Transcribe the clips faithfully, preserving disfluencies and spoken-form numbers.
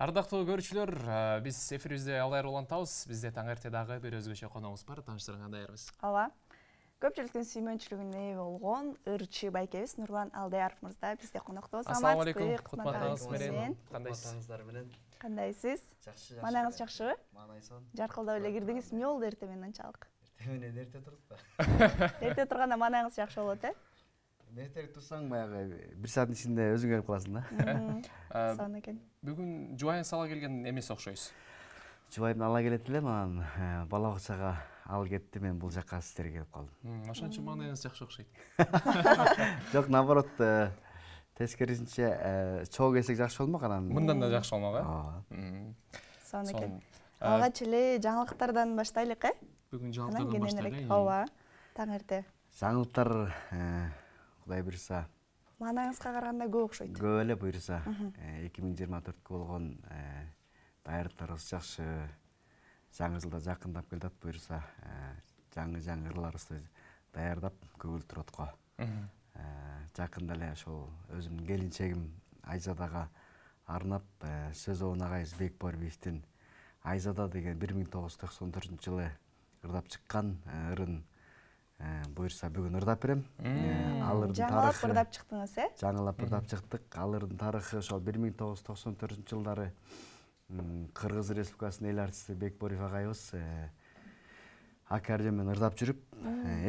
Ардактуу көрүүчүлөр, биз эфирибизде алдар улантабыз. Бизде таң эрте дагы бир өзгөчө коногубуз бар. Тааныштырганга даярбыз. Ооба. Көпчүлүктүн сүймөнчүлүгүнө ээ болгон ырчы байкебиз Нурлан Алдаяров мырза бизде коноктобуз. Ассаламу алейкум. Кутмандыгыңыз менен. Кутмандыгыңыздар менен. Кандайсыз? Жакшы. Манаңыз жакшыбы? Маанайсон. Жаркылдап эле кирдиңиз. Эмне болду эртең менен анчалык? Эртең менен эрте турдук. Эрте турганда манаңыз жакшы болот, э? Эртерээк турсаң баягы бир сааттын ичинде өзүң келип каласың да. Сон экен. Бүгүн жубайыңыз ала келген эмес окшойсуз. Жубайымды ала келет элем, анан бала бакчага алып кетти, мен бул жакка сиздерге келип калдым. Ошон үчүн маанайыңыз жакшы окшойт. Жок, наоборот, тескерисинче чоо келсек жакшы болмок анан. Мындан да жакшы болмок, э? Ооба. Сон экен. Алгач эле жаңылыктардан баштайлык, э? Бүгүн жаңылыктардан баштайлы. Ооба. Таң эрте. Жаңылыктар Кудай буйрса. Маанайыңызга караганда көп окшойт. Көп эле буйрса. эки миң жыйырма төрткө болгон даярдыктарыбыз жакшы. Жаңы жылда жакындап келатат буйрса. Жаңы-жаңы ырларыбызды даярдап көгүлтүр отко. Жакында эле ошол өзүмдүн келинчегим Айзадага арнап сөз обун агайыбыз Бекборбиевдин Айзада деген бир миң тогуз жүз токсон төртүнчү жылы ырдап чыккан ырын буйрса бүгүн ырдап берем. Ал ырдын тарыхы. Жаңылап ырдап чыктыңыз, э? Жаңылап ырдап чыктык. Ал ырдын тарыхы ошол бир миң тогуз жүз токсон төртүнчү жылдары Кыргыз Республикасынын эл артисти Бекборбиев агайыбыз аккордеон менен ырдап жүрүп,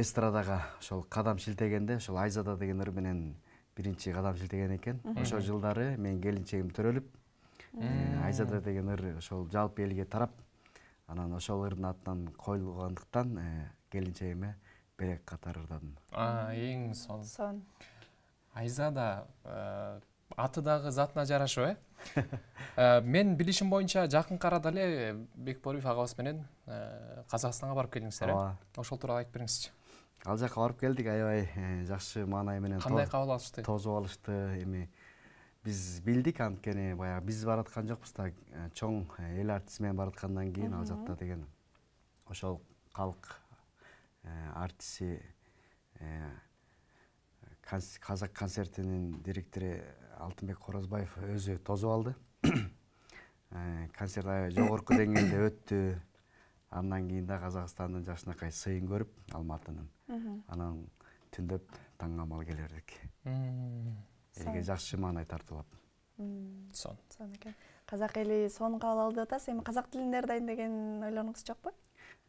эстрадага ошол кадам шилтегенде, ошол Айзада деген ыр менен биринчи кадам шилтеген экен. Ошол жылдары менин келинчегим төрөлүп, Айзада деген ыр ошол жалпы элге тарап, анан ошол ырдын атынан коюлгандыктан келинчегиме берек катары ырдадым. А, эң сон. Сон. Айзада аты дагы затына жарашып, э? Мен билишим боюнча жакынкы арада эле Бекборбиев агабыз менен Казакстанга барып келдиңиздер, э? Ошол тууралуу айтып бериңизчи. Ал жака барып келдик, аябай жакшы маанай менен. Кандай кабыл алышты? Тосуп алышты. Эми биз билдик, анткени баягы биз бараткан жокпуз да, чоң эл артисти менен бараткандан кийин ал жакта деген ошол калк артисти Казак концертинин директору Алтынбек Корозбаев өзү тосуп алды. Концерт аябай жогорку деңгээлде өттү. Андан кийин да Казакстандын жакшынакай сыйын көрүп, Алматынын. Анан түндөп таң амал келе бердик. Элге жакшы маанай тартуулап. Сон. Сон экен. Казак эли сонун кабыл алды атасыз. Эми казак тилин ырдайын деген ойлоруңуз жокпу?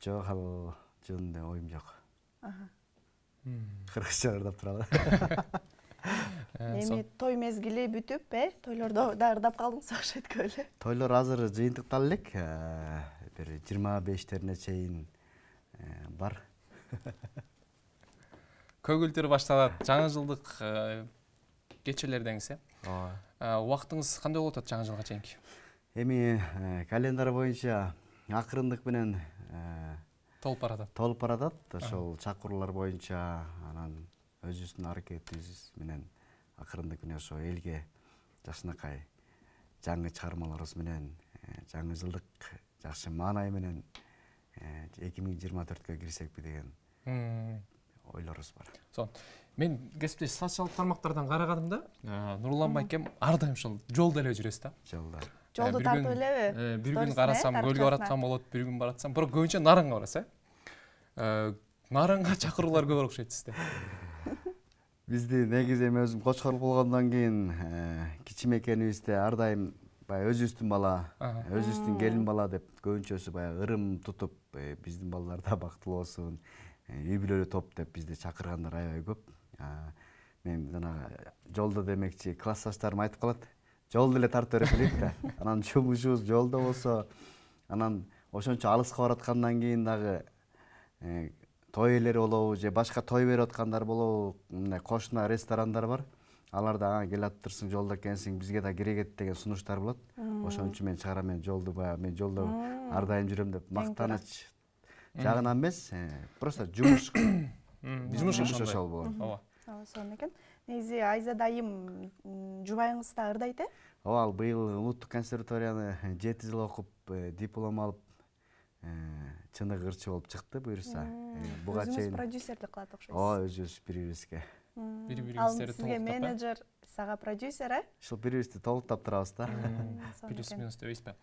Жок, ал жөнүндө оюм жок. Аха. Кыргызча ырдап туралы. Эми той мезгили бүтүп, э? Тойлордо да ырдап калдыңыз окшойт эле. Тойлор азыр жыйынтыкталып элек. Бир жыйырма бештерине чейин бар. Көгүлтүр башталат. Жаңы жылдык кечелердеңиз, э? Ооба. Убактыңыз кандай болуп атат жаңы жылга чейинки? Эми календар боюнча акырындык менен толуп баратат. Толуп баратат. Ошол чакыруулар боюнча анан өзүбүздүн аракетибиз менен акырындык менен ошо элге жакшынакай жаңы чыгармаларыбыз менен жаңы жылдык жакшы маанай менен эки миң жыйырма төрткө кирсекпи деген ойлорубуз бар. Сон. Мен кесиптеш социалдык тармактардан караганым да, Нурлан байкем ар дайым ушул жолдо эле жүрөсүз да. Жолдо. Жолду тартып элеби? Бир күн карасам көлгө бараткан болот, бир күн баратсам, бирок көбүнчө Нарынга барасыз, э? Нарынга чакыруулар көп окшойт сизде. Бизди негизи эми өзүм кочкор болгондон кийин кичимекенибизде ар дайым баягы өзүбүздүн бала, өзүбүздүн келин бала деп көбүнчөсү баягы ырым тутуп, биздин балдар да бактылуу болсун, үй бүлөлүү топ деп бизди чакыргандар аябай көп. Мен жана жолдо демекчи, классташтарым айтып калат. Жолду эле тартып берип элек да. Анан жумушубуз жолдо болсо, анан ошончо алыска бараткандан кийин дагы той ээлери болобу же башка той берип аткандар болобу, мындай кошуна ресторандар бар. Алар да келип атырсың, жолдо экенсиң, бизге да керегет деген сунуштар болот. Ошон үчүн мен чыгарам, мен жолду баягы мен жолдо ар дайым жүрөм деп мактаныч жагынан эмес, просто жумуш. Жумуш ошол болот. Ооба. Ооба, сон экен. Негизи Айзада айым жубайыңыз да ырдайт, э? Ооба, ал быйыл улуттук консерваторияны жети жыл окуп, диплом алып, чыныгы ырчы болуп чыкты буюрса. Буга чейин продюсерлик кылат окшойсуз. Ооба, өзүбүз бири-бирибизге бири Ал бириңиздерди сизге менеджер, сага продюсер, э? Ушул бири-бирибизди толуктап турабыз да. Плюс минус дебейсизби?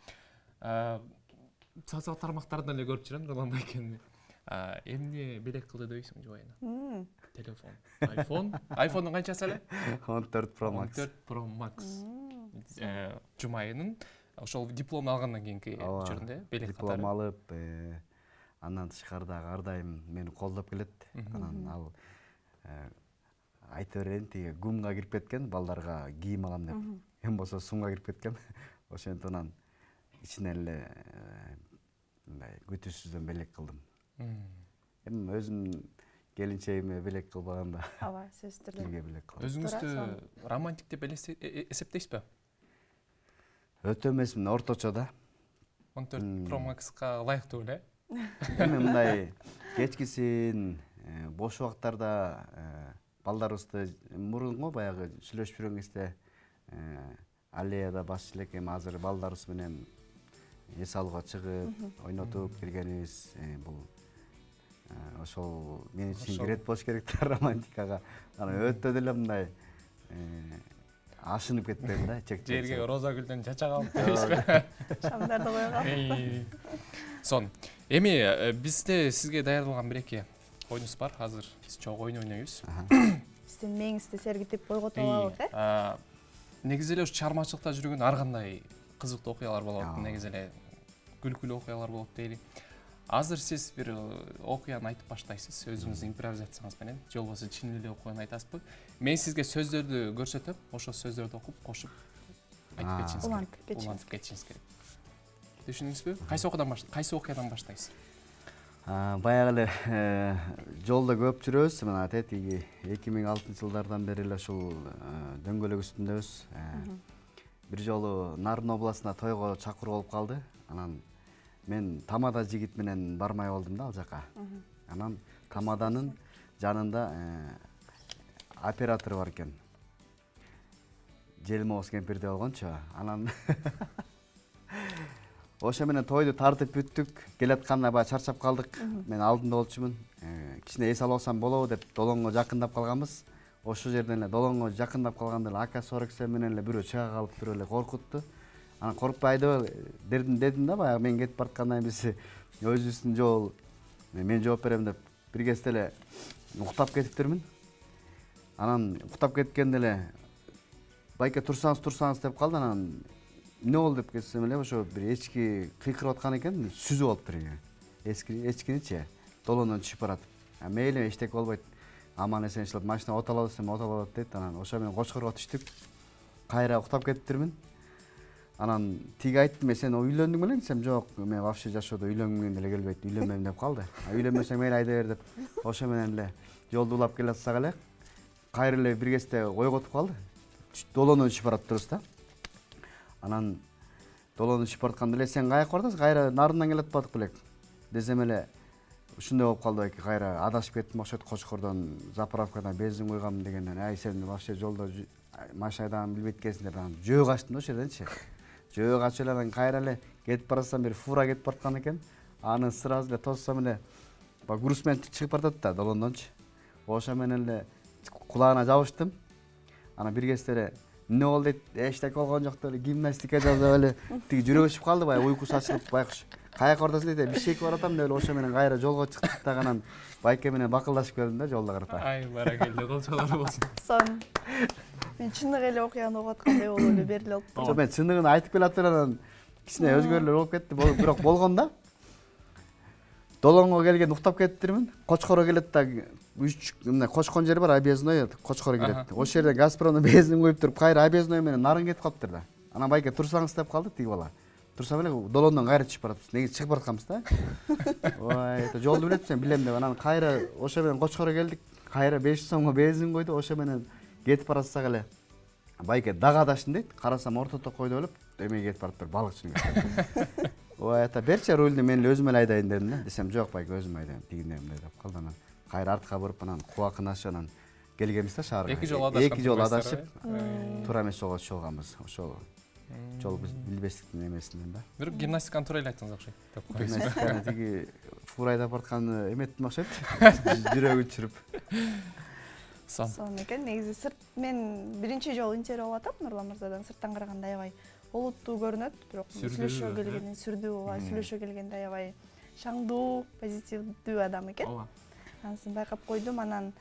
Социал тармактарда эле көрүп жүрөм Нурлан байкени. Эмне белек кылды дебейсиңби жубайына? Телефон. iPhone. iPhone'ун канчасы эле? он төрт Pro Max. он төрт Pro Max. Жумайынын ошол диплом алгандан кийинки учурунда белек катары. Диплом алып, андан тышкары дагы ар дайым мени колдоп келет. Анан ал айта берейин, тиги гумга кирип кеткен, балдарга кийим алам деп. Эми болсо сумга кирип кеткен. Ошентип анан ичинен эле мындай күтүүсүздөн белек кылдым. Эми өзүм келинчегиме белек кылбаганда. Ооба, сөзсүз түрдө. Кимге белек кылам? Өзүңүздү романтик деп эсептейсизби? Өтө эмесмин, орточо да. он төрт Pro Max'ка ылайыктуу эле. Эми мындай кечкисин бош убактарда балдарыбызды мурунго баягы сүйлөшүп жүргөн кезде аллеяда басчу элек, эми азыр балдарыбыз менен эс алууга чыгып, ойнотуп келгенибиз бул ошол мен үчүн кирет болуш керек да романтикага. Анан өтө деле мындай ашынып кетпейм да, чек-чек. Жерге роза гүлдөн чачак алып дебейсизби? Шамдарды койгон. Сон, эми бизде сизге даярдалган бир-эки оюнубуз бар. Азыр биз чогуу ойун ойнойбуз. Сиздин мээңизди сергитип койготуп алабыз, э? Негизи эле ушу чыгармачылыкта жүргөн ар кандай кызыктуу окуялар болот, негизи эле күлкүлүү окуялар болот дейли. Азыр сиз бир окуяны айтып баштайсыз, өзүңүздүн импровизацияңыз менен, же болбосо чын эле окуяны айтасызбы? Мен сизге сөздөрдү көрсөтөм, ошол сөздөрдү окуп, кошуп айтып кетишиңиз керек. Улантып кетишиңиз керек. Түшүндүңүзбү? Кайсы окуядан баштайсыз? Кайсы окуядан баштайсыз? Баягы эле жолдо көп жүрөбүз, мына тетиги эки миң алтынчы жылдардан бери эле ушул дөңгөлөк үстүндөбүз. Бир жолу Нарын областына тойго чакыруу болуп калды. Анан мен тамада жигит менен бармай болдум да ал жака. Анан тамаданын жанында оператор бар экен. Желмоос кемпирде болгончу. Анан ошо менен тойду тартып бүттүк. Келатканда баягы чарчап калдык. Мен алдында болчумун. Кичине эс алып алсам болобу деп долоңго жакындап калганбыз. Ошол жерден эле долоңго жакындап калганда эле АК сорок семь менен эле бирөө чыга калып бирөө эле коркутту. Анан коркпой айдабай дедим дедим да, баягы мен кетип бараткандан кийин биз өзүбүздүн жол, мен жооп берем деп бир кезде эле уктап кетиптирмин. Анан уктап кеткенде эле байке турсаңыз турсаңыз деп калды. Анан эмне болду деп кетсем эле ошо бир эчки кыйкырып аткан экен, сүзүп алыптыр экен. Эски эчкиничи долондон түшүп барат. Мейли эчтеке болбойт. Аман эсен иштеп машина оталат десем оталат дейт. Анан ошо менен Кочкорго түштүк. Кайра уктап кетиптирмин. Анан тиги айттым, мен сен үйлөндүң белең десем, жок, мен вообще жашоодо үйлөнгүм деле келбейт, үйлөнбөйм деп калды. Үйлөнбөсөң мейли айда бер деп ошо менен эле жолду улап келатсак эле кайра эле бир кезде ойготуп калды. Долондон түшүп барат турбуз да. Анан долондон түшүп баратканда эле сен каяка бардың? Кайра Нарындан келе атпадык белек десем эле ушундай болуп калды байке, кайра адашып кеттим окшойт, Кочкордон заправкадан бензин куйгам дегенден, ай сен вообще жолдо машина айдаганды билбейт экенсиң деп анан жөө качтым да ошол жерденчи. Жөө качып эле анан кайра эле кетип баратсам бир фура кетип бараткан экен. Аны сразу эле тоссом эле баягы грузмен чыгып баратат да долондончу. Ошо менен эле кулагына жабыштым. Анан бир кезде эле эмне болду дейт, эчтеке болгон жок деп эле гимнастика жасап эле тиги жүрөгү ичип калды, баягы уйкусу ачылып байкуш. Каяка бардасың дейт, бишкекке баратам деп эле ошо менен кайра жолго чыктык да, анан байке менен бакылдашып келдим да жолдо карата. Ай, баракелде, колчолор болсун. Сон. Мен чындык эле окуяны угуп аткандай болуп эле берилип алыптыр. Жок, мен чындыгын айтып келатыр, анан кичине өзгөрүүлөр болуп кетти, бирок болгон да. Долоңго келген уктап кетиптирмин. Кочкорго келет да, үч мына Кочкон жери бар, объездной, Кочкорго келет. Ошол жерде Газпромдон бензин куюп туруп, кайра объездной менен Нарын кетип калыптыр да. Анан байке турсаңыз деп калды тиги бала. Турсам эле долондон кайра түшүп баратпыз. Неге чыгып баратканбыз да? Ой, жолду билетсем билем деп анан кайра ошо менен Кочкорго келдик. Кайра беш жүз сомго бензин койду, ошо менен кетип баратсак эле байке дагы адашын дейт. Карасам ортодо койду болуп, эмеге кетип бараптыр, балыкчының. Ой, ата берчи рульду, мен эле өзүм эле айдайын дедим да. Десем, жок байке, өзүм айдайм, тигиндейм деп калды. Анан кайра артка буруп, анан кубакынашы анан келгенбиз да шаарга. Эки жолу адашып. Эки жолу адашып, туура эмес жолго түшүп алганбыз. Ошол жол билбестиктин эмесинен да. Бирок гимнастиканы туура эле айттыңыз окшойт деп коебуз. Гимнастиканы тиги фура айдап баратканы эметтим окшойт. Жүрөгү чүрүп. сонун экен. Негизи сырт мен биринчи жолу интервью алып атам Нурлан мырзадан. Сырттан караганда аябай олуттуу көрүнөт, бирок сүйлөшө келгенде сүрдүү, ооба, сүйлөшө келгенде аябай шаңдуу, позитивдүү адам экен. Ооба. Анысын байкап койдум. Анан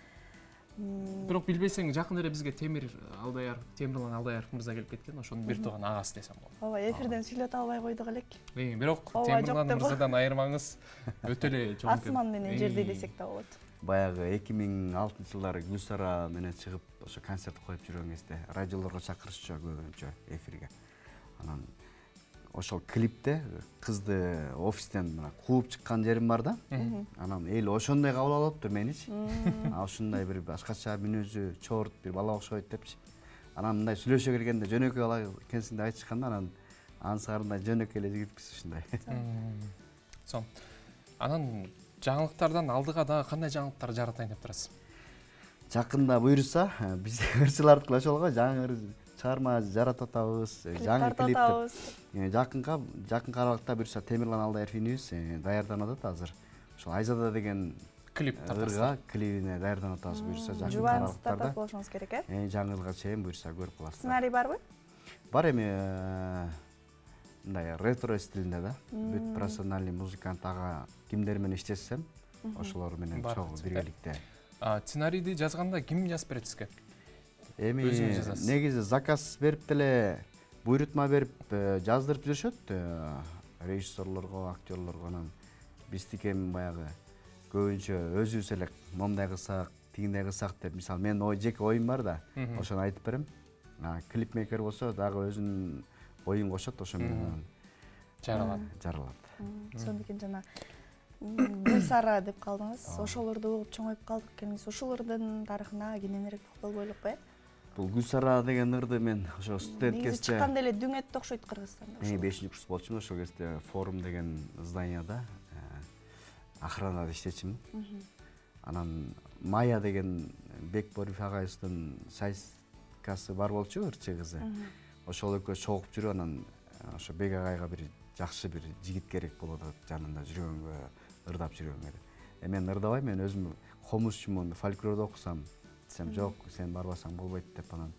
бирок билбесең жакында эле бизге Темир Алдаяров, Темирлан Алдаяров мырза келип кеткен, ошонун бир тууган агасы десем болот. Ооба, эфирден сүйлөтө албай койдук элек. Бирок Темирлан мырзадан айырмаңыз өтө эле чоң. Асман менен жерди десек да болот. Баягы эки миң алтынчы жылдары Гүлсара менен чыгып, ошо концерт коюп жүргөн кезде радиолорго чакырышчу көбүнчө эфирге. Анан ошол клипте кызды офистен мына кууп чыккан жерим бар да. Анан эл ошондой кабыл алыптыр меничи. А ушундай бир башкача мүнөзү, чорт бир бала окшойт депчи. Анан мындай сүйлөшө келгенде жөнөкөй бала экенсиң деп айтышканда, анан ансарындай жөнөкөй эле жигитпиз ушундай. Сон. Анан жаңылыктардан алдыга дагы кандай жаңылыктар жаратайын деп турасыз? Жакында буйруса, биз ырчылардыкы ошол го, жаңы чыгарма жаратып атабыз, жаңы клип. Жакынка жакынкы аралыкта буйруса Темирлан Алдаяров инибиз даярданып атат азыр. Ошол Айзада деген клип тартасыздар. Клибине даярданып атабыз буйруса жакынкы аралыктарда. Болушуңуз керек, э? Э, жаңы жылга чейин буйруса көрүп каласыздар. Сценарий барбы? Бар эми мындай ретро стилинде да. Бүт профессиональный музыкант ага кимдер менен иштесем, ошолор менен чогуу биргеликте. А сценарийди жазганда ким жазып берет сизге? Эми негизи заказ берип деле буйрутма берип жаздырып жүрүшөт режиссерлорго, актерлорго. Анан биздики эми баягы көбүнчө өзүбүз эле момундай кылсак, тигиндей кылсак деп, мисалы мен ой жеке оюм бар да, ошону айтып берем. Клипмейкер болсо дагы өзүнүн оюн кошот, ошо менен жаралат. Жаралат. Сонун экен. Жана Гүлсара деп калдыңыз. Ошолорду угуп чоңоюп калдык экенбиз. Ошолордун тарыхына кененирээк токтолбойлук бе? Бул Гүлсара деген ырды мен ошо студент кезде чыкканда эле дүң этти окшойт Кыргызстанда. Мен бешинчи курс болчумун, ошол кезде Форум деген зданияда охранада иштечимин. Анан Майя деген Бекборев агайыбыздын сайскасы бар болчу, ырчы кызы. Ошол экөө чогуп жүрүп, анан ошо Бек агайга бир жакшы бир жигит керек болот деп жанында жүргөнгө, ырдап жүргөнгө. Э мен ырдабайм, мен өзүм комузчумун, фольклорду окусам, десем жок, сен барбасаң болбойт деп, анан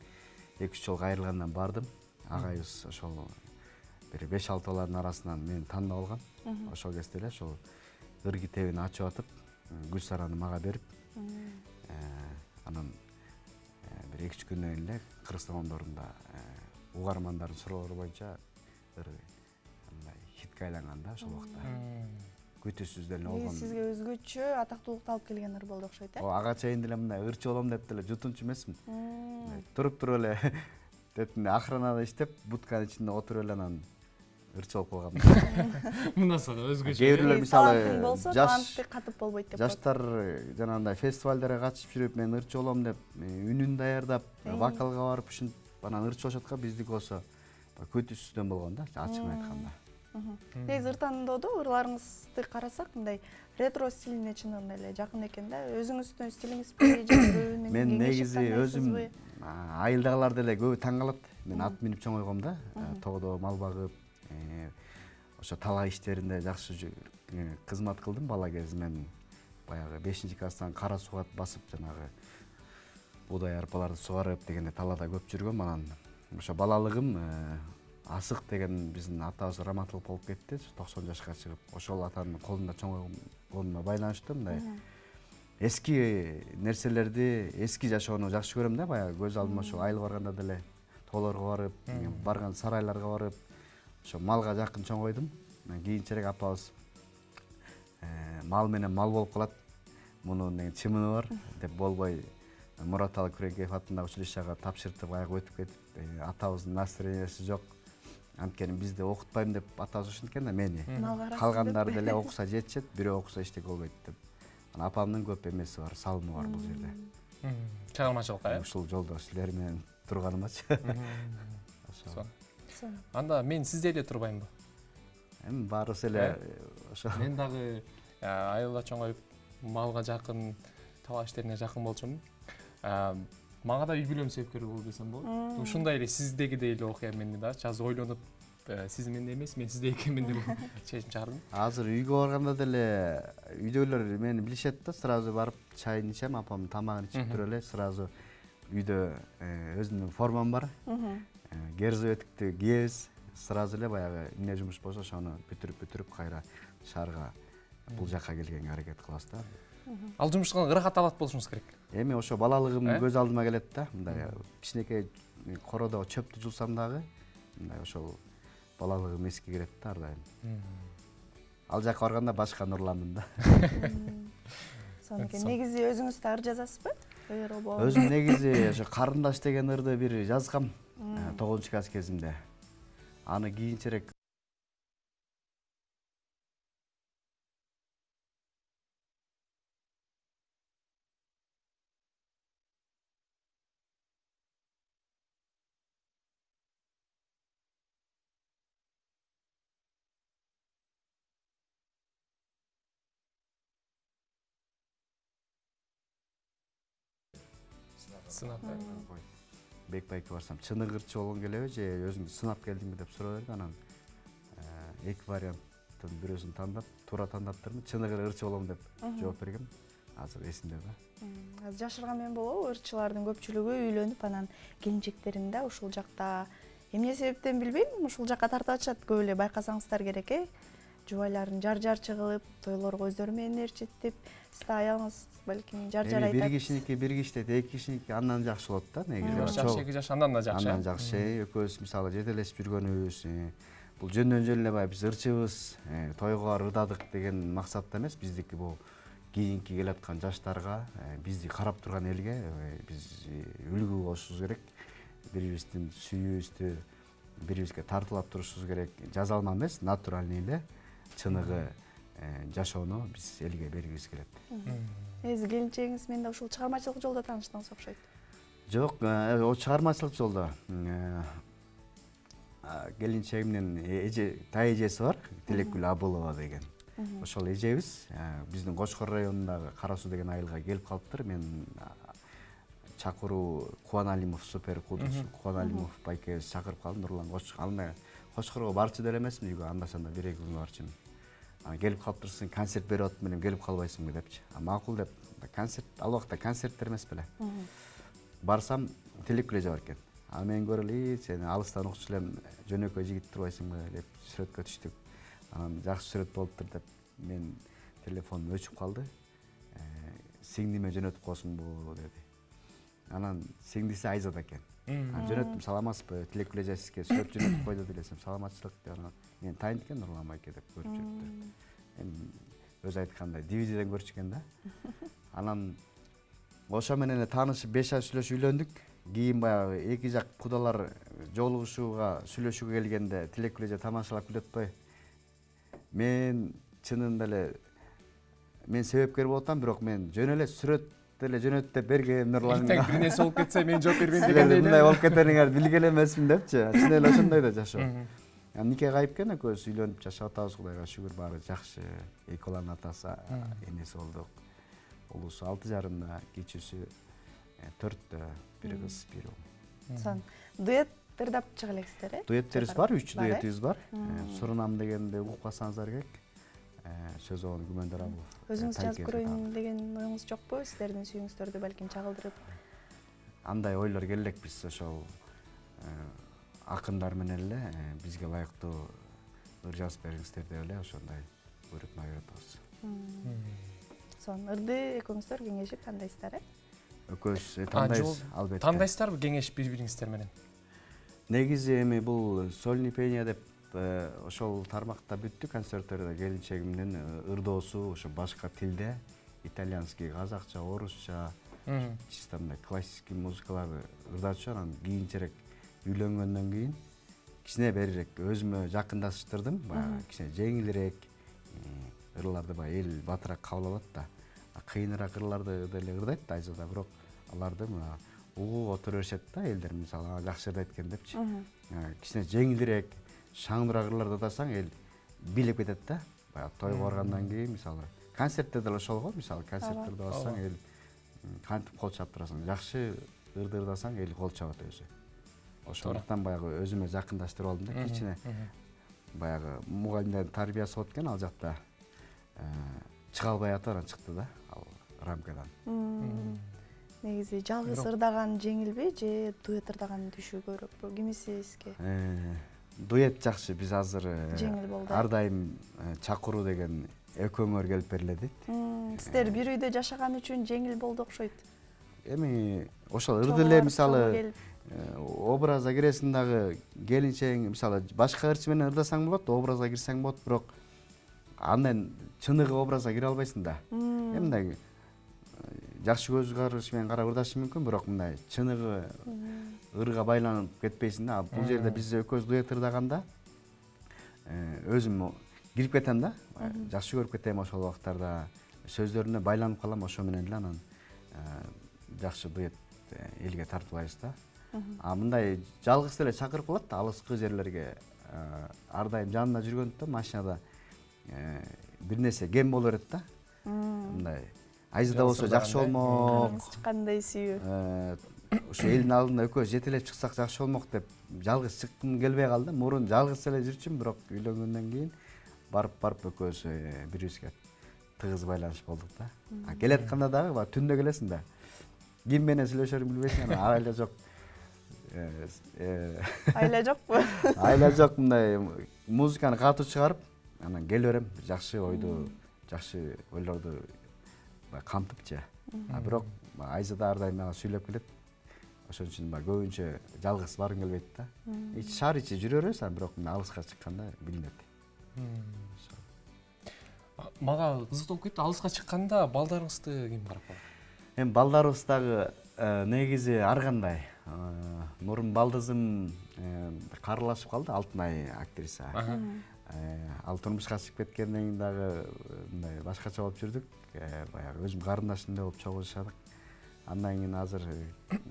эки үч жол кайрылгандан бардым. Агайыбыз ошол бир беш алты баланын арасынан мени тандап алган. Ошол кезде эле ошол ыр китебин ачып атып, Гүлсараны мага берип, анан бир эки үч күндөн кийин эле Кыргызстан ондорунда угармандардын суроолору боюнча ыр мындай хитке айланган да ошол убакта. Күтүүсүз деле болгон. Сизге өзгөчө атактуулукту алып келген ыр болду окшойт, э? О, ага чейин деле мындай ырчы болом деп деле жутунчу эмесмин. Туруп туруп эле деп охранада иштеп, будканын ичинде отуруп эле анан ырчы болуп калгам. Мындан соң өзгөчө. Кээ бирлер мисалы жаш катып болбойт деп. Жаштар жанагындай фестивалдарга катышып жүрүп, мен ырчы болом деп, үнүн даярдап, вокалга барып ушинтип анан ырчы болушаткан, биздики болсо күтүүсүздөн болгон да, ачыгын айтканда. Негизи ыр тандоодо ырларыңызды карасак, мындай ретро стилине чынында эле жакын экен да. Өзүңүздүн стилиңизби же көбүнүн мен негизи өзүм айылдагылар деле көбү таң калат. Мен ат минип чоңойгом да, тоодо мал багып, ошо талаа иштеринде жакшы кызмат кылдым бала кезимден. Баягы бешинчи класстан кара сууга басып, жанагы буудай арпаларды сугарып дегенде талаада көп жүргөм. Анан ошо балалыгым Асык деген биздин атабыз раматылык болуп кетти, токсон жашка чыгып. Ошол атанын колунда чоңойгонуна байланыштуу мындай эски нерселерди, эски жашоону жакшы көрөм да. Баягы көз алдыма ошо айыл барганда деле тоолорго барып, барган сарайларга барып, ошо малга жакын чоңойдум. Кийинчерээк апабыз мал менен мал болуп калат, мунун деген чымыны бар деп болбой Мураталы Күреңкеев атындагы училищага тапшыртып аяга өтүп кетип, атабыздын настроениясы жок. Анткени бизди окутпайм деп атабыз ушинткен да мени. Калгандары деле окуса жетишет, бирөө окуса эчтеке болбойт деп. Анан апамдын көп эмеси бар, салымы бар бул жерде. Чыгармачылыкка, э? Ушул жолдо силер менен турганымачы. Ошо. Анда мен сизде эле турбаймбы? Эми баарыбыз эле ошо. Мен дагы айылда чоңоюп, малга жакын, талаа иштерине жакын болчумун. Мага да үй бүлөм себепкер болду десем болот. Ушундай эле сиздегидей эле окуя менде да. Чаз ойлонуп сиз менде эмес, мен сизде экенмин деп чечим чыгардым. Азыр үйгө барганда деле үйдөгүлөр мени билишет да, сразу барып чайын ичем, апам тамагын ичип туруп эле сразу үйдө өзүмдүн формам бар. Герзоветтикти кийебиз, сразу эле баягы эмне жумуш болсо ошону бүтүрүп-бүтүрүп кайра шаарга бул жакка келгенге аракет кылабыз да. Ал жумуштан ырахат алат болушуңуз керек. Эми ошо балалыгым көз алдыма келет да. Мындай кичинекей кородо чөптү жулсам дагы мындай ошол балалыгым эске келет да ар дайым. Ал жакка барганда башка нурламын да. Сонун. Негизи өзүңүз да ыр жазасызбы? Өзүм негизи ошо Карындаш деген ырды бир жазгам тогузунчу класс кезимде. Аны кийинчерээк сынап Бекбайке барсам чыныгы ырчы болгоң келеби же өзүңдү сынап келдиңби деп суроо берди. Анан эки варианттын бирөөсүн тандап, туура тандап турдум. Чыныгы ырчы болом деп жооп бергем. Азыр эсимде да. Азыр жашырган мен болобу, ырчылардын көпчүлүгү үйлөнүп, анан келинчектерин да ушул жакта эмне себептен билбейм, ушул жакка тартып атышат. Көп эле байкасаңыздар керек э. Жубайларын жар-жарчы кылып, тойлорго өздөрү менен ээрчитип, сиз да аялыңыз балким жар-жар айтат. Бир кишиники бир киштейт, эки кишиники андан жакшы болот да негизи. Жаш эки жаш андан да жакшы. Андан жакшы. Экөөбүз мисалы жетелешип жүргөнүбүз, бул жөндөн жөн эле баягы биз ырчыбыз, тойго ырдадык деген максатта эмес. Биздики бул кийинки келаткан жаштарга, бизди карап турган элге биз үлгү болушубуз керек. Бири-бирибиздин сүйүүбүздү бири-бирибизге тартуулап турушубуз керек. Жазалма эмес, натуральный эле чыныгы жашоону биз элге бергибиз келет. Эзи келинчегиңиз менен да ушул чыгармачылык жолдо тааныштыңыз окшойт. Жок, о чыгармачылык жолдо. Келинчегимдин эже, тай эжеси бар, Тилекгүл Абылова деген. Ошол эжебиз биздин Кочкор районундагы Кара Суу деген айылга келип калыптыр. Мен чакыруу Кубаналимов супер кудус Кубаналимов байкебиз чакырып калды. Нурлан Кочкорго барчу деле эмесмин, үйгө анда-санда бир эки күн барчумун. Анан келип калыптырсың, концерт берип атып менен келип калбайсыңбы депчи. Макул деп, концерт ал убакта концерттер эмес беле. Барсам Тилекгүл эже бар экен. А мен көрөлү, сени алыстан укчу элем, жөнөкөй жигит турбайсыңбы деп сүрөткө түштүк. Анан жакшы сүрөт болуптур деп мен телефонум өчүп калды. Сиңдиме жөнөтүп койсуңбу деди. Анан сиңдиси Айзада экен. Анан жөнөттүм, саламатсызбы, Тилекгүл эже сизге сүрөт жөнөтүп койду десем, саламатчылык деп. Анан мен тайын экен Нурлан байке деп көрүп жүрүптүр. Эми өзү айткандай дивизиядан көрчү экен да. Анан ошо менен эле таанышып беш ай сүйлөшүп үйлөндүк. Кийин баягы эки жак кудалар жолугушууга, сүйлөшүүгө келгенде Тилекгүл эже тамашалап күлөт атпайбы. Мен чынында эле мен себепкер болуп атам, бирок мен жөн эле сүрөт деле жөнөт деп бергем Нурланга. Эртең бир нерсе болуп кетсе мен жооп бербейм дегендей. Мындай болуп кетериңер билген эмесмин депчи. Чын эле ошондой да жашоо. Нике кайып экен, экөөбүз үйлөнүп жашап атабыз, Кудайга шүгүр, баары жакшы. Эки баланын атасы, энеси болдук. Улусу алты жарымда, кичүүсү төрттө, бир кыз, бир уул. Сон дуэт ырдап чыга элексиздер, э? Дуэттерибиз бар, үч дуэтибиз бар. Сурунам дегенди угуп калсаңыздар керек. Сөзөн Күмөндөр Абылов. Өзүңүз жазып көрөйүн деген оюңуз жокпу? Сиздердин сүйүүңүздөрдү балким чагылдырып. Андай ойлор келелек биз ошол акындар менен эле бизге ылайыктуу ыр жазып бериңиздер деп эле ошондой буйрутма берип атабыз. Сон ырды экөөңүздөр кеңешип тандайсыздар, э? Экөөбүз тандайбыз, албетте. Тандайсыздарбы кеңешип бири-бириңиздер менен? Негизи эми бул сольный пение деп ошол тармакта бүттү концерттерде. Келинчегимдин ырдоосу ошо башка тилде, итальянский, казакча, орусча, чисто мындай классический музыкаларды ырдачу. Анан кийинчерээк үйлөнгөндөн кийин кичине берирээк өзүмө жакындаштырдым. Баягы кичине жеңилирээк ырларды баягы эл батыраак кабыл алат да. Кыйыныраак ырларды деле ырдайт Айзада, бирок аларды мына угууга отура беришет да элдер, мисалы жакшы ырдайт экен депчи. Кичине жеңилирээк, шаңдыраак ырларды ырдасаң эл билип кетет да. Баягы тойго баргандан кийин мисалы концертте деле ошол го, мисалы концерттерде барсаң эл кантип кол чаап турасың, жакшы ырды ырдасаң эл кол чабат өзү. Ошондуктан баягы өзүмө жакындаштырып алдым да, кичине баягы мугалимдердин тарбиясы болот экен ал жакта чыга албай атып анан чыкты да ал рамкадан. Негизи жалгыз ырдаган жеңилби же дуэт ырдаган түшүү көбүрөөкпү? Кимиси сизге? Дуэт жакшы. Биз азыр жеңил болду. Ар дайым чакыруу деген экөөңөр келип бериле дейт. Сиздер бир үйдө жашаган үчүн жеңил болду окшойт. Эми ошол ырды эле мисалы образга киресиң дагы келинчең мисалы башка ырчы менен ырдасаң болот, образга кирсең болот, бирок андан чыныгы образга кире албайсың да. Эми мындай жакшы көз караш менен карап ырдашың мүмкүн, бирок мындай чыныгы ырга байланып кетпейсиң да. Бул жерде биз экөөбүз дуэт ырдаганда өзүм кирип кетем да. Жакшы көрүп кетем ошол убактарда. Сөздөрүнө байланып калам, ошо менен эле анан жакшы дуэт элге тартуулайбыз да. А мындай жалгыз эле чакырып калат да алыскы жерлерге. Ар дайым жанында жүргөндүктөн машинада бир нерсе кем боло берет да. Мындай айзада болсо жакшы болмок. Кандай сүйүү. Ошо элдин алдында экөөбүз жетелеп чыксак жакшы болмок деп жалгыз чыккым келбей калды. Мурун жалгыз эле жүрчүмүн, бирок үйлөнгөндөн кийин барып барып экөөбүз бири бирибизге тыгыз байланыш болдук да. А келатканда дагы баягы түндө келесиң да. Ким менен сүйлөшөрүңдү билбейсиң, анан айла жок. Айла жокпу? Айла жок, мындай музыканы катуу чыгарып, анан келе берем. Жакшы ойду, жакшы ойлорду камтыпчы. А бирок айзада ар дайым мага сүйлөп келет. Ошон үчүн баягы көбүнчө жалгыз баргым келбейт да. Ичи шаар ичи жүрө беребиз, а бирок мына алыска чыкканда билинет. Мага кызык болуп кетти. Алыска чыкканда балдарыңызды ким карап калат? Эми балдарыбыз дагы негизи ар кандай. Мурун балдызым карылашып калды, Алтынай актриса. Ал турмушка чыгып кеткенден кийин дагы мындай башкача болуп жүрдүк. Баягы өзүм карындашымдай болуп чогуу жашадык. Андан кийин азыр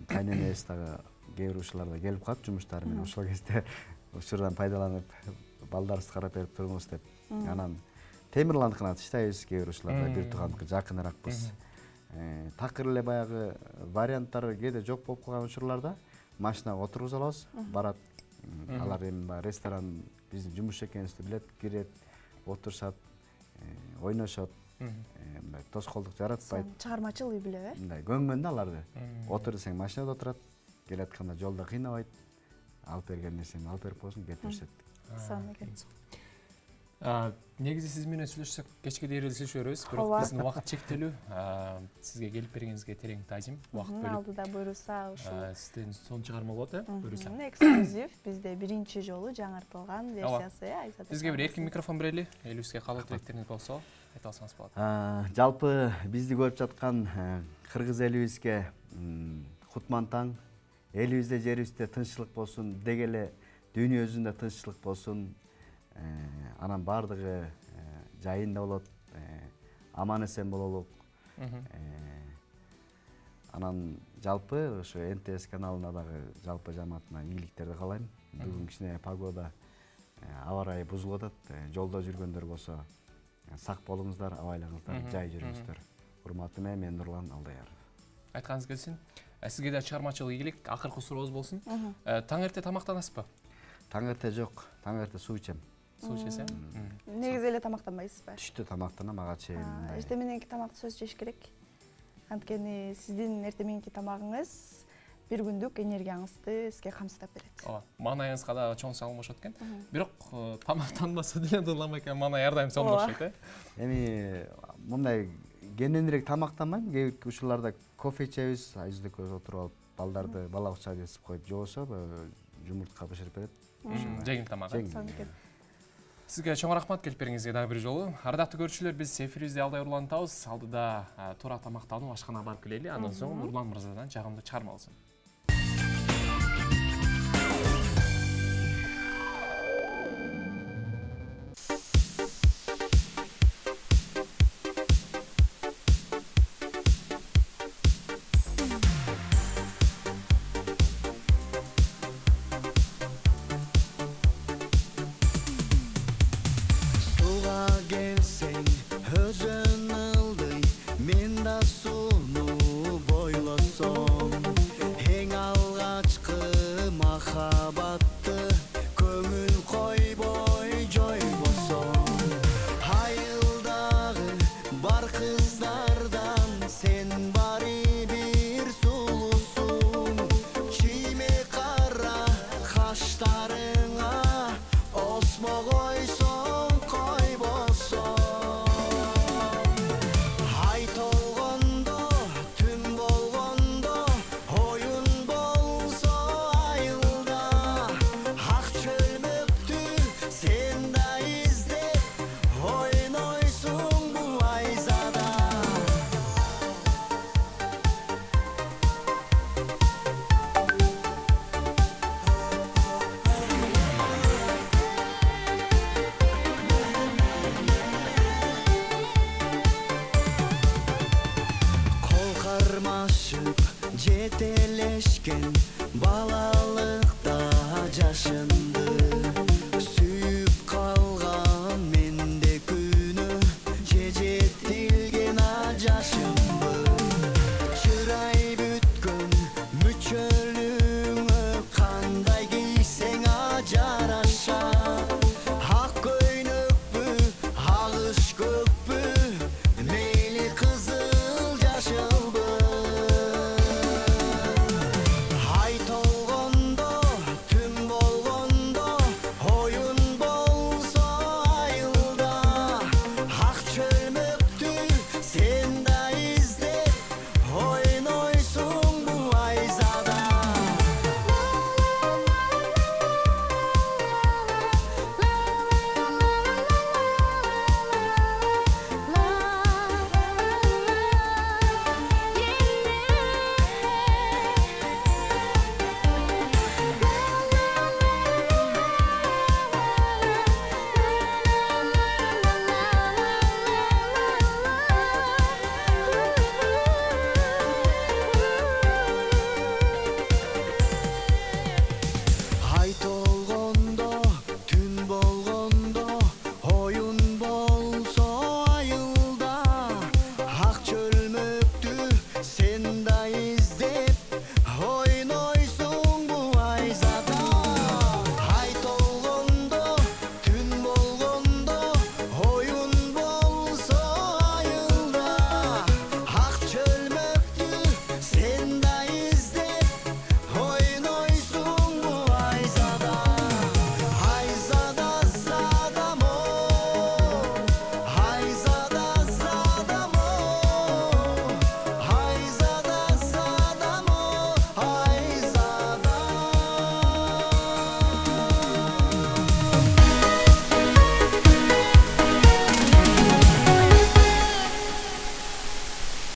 кайненебиз дагы кээ бир учурларда келип калат жумуштары менен. Ошол кезде учурдан пайдаланып балдарыбызды карап берип туруңуз деп. Анан Темирландыкына тыштайбыз, кээ бир учурларда бир туугандыкы жакыныракпыз. Такыр эле баягы варианттар кээде жок болуп калган учурларда машинага отургуза алабыз, барат. Алар эми баягы ресторан биздин жумушчу экенибизди билет, кирет, отурушат, ойношот. Мындай тоскоолдук жаратпайт. Чыгармачыл үй билеби э? Мындай көнгөн да аларды. Отур десең машинада отурат, келатканда жолдо кыйнабайт. Алып берген нерсени алып берип койсун, кетип беришет. Сон экен. Негизи сиз менен сүйлөшсөк кечке дейин эле сүйлөшө беребиз, бирок биздин убакыт чектелүү. Сизге келип бергениңизге терең таазим. Убакыт бөлүп. Алдыда буйруса ушул. Сизден сонун чыгарма болот э? Буйруса. Эксклюзив бизде биринчи жолу жаңыртылган версиясы э, Айзада. Бизге бир эркин микрофон берели. Элибизге калуу тилектериңиз болсо, айта алсаңыз болот. Жалпы бизди көрүп жаткан кыргыз элибизге кутман таң, элибизде жерибизде тынччылык болсун, деги эле дүйнө жүзүндө тынччылык болсун. Анан бардыгы жайында болот, аман эсен бололук. Анан жалпы ошо эн тэ эс каналына дагы жалпы жамаатына ийгиликтерди каалайм. Бүгүн кичине погода, аба ырайы бузулуп атат. Жолдо жүргөндөр болсо сак болуңуздар, абайлаңыздар, жай жүрүңүздөр. Урматым менен мен Нурлан Алдаяров. Айтканыңыз келсин. Сизге да чыгармачылык ийгилик. Акыркы сурообуз болсун. Таң эрте тамактанасызбы? Таң эрте жок, таң эрте суу ичем. Суу ичесиң? Негизи эле тамактанбайсызбы? Түштө тамактанам, ага чейин. Эртең мененки тамакты сөз жеш керек. Анткени сиздин эртең мененки тамагыңыз бир күндүк энергияңызды сизге камсыздап берет. Ооба, маанайыңызга да чоң салым кошот экен. Бирок тамактанбаса деле дыламай экен, маанай ар дайым сонун окшойт э. Эми мындай кененирээк тамактанбайм, кээ бир учурларда кофе ичебиз, айзыдыкөз отуруп алып, балдарды бала бакчага жесип коюп, же болбосо жумуртка бышырып берет. Жеңил тамак. Сизге чоң рахмат келип бергениңизге дагы бир жолу. Ардактуу көрүүчүлөр, биз эфирибизде Алдай урлантабыз. Алдыда туура тамактанып ашканага барып келели. Андан соң Нурлан мырзадан жагымдуу чыгарма алсын. Өзün ылдый, мен да сууну бойлосом. экен.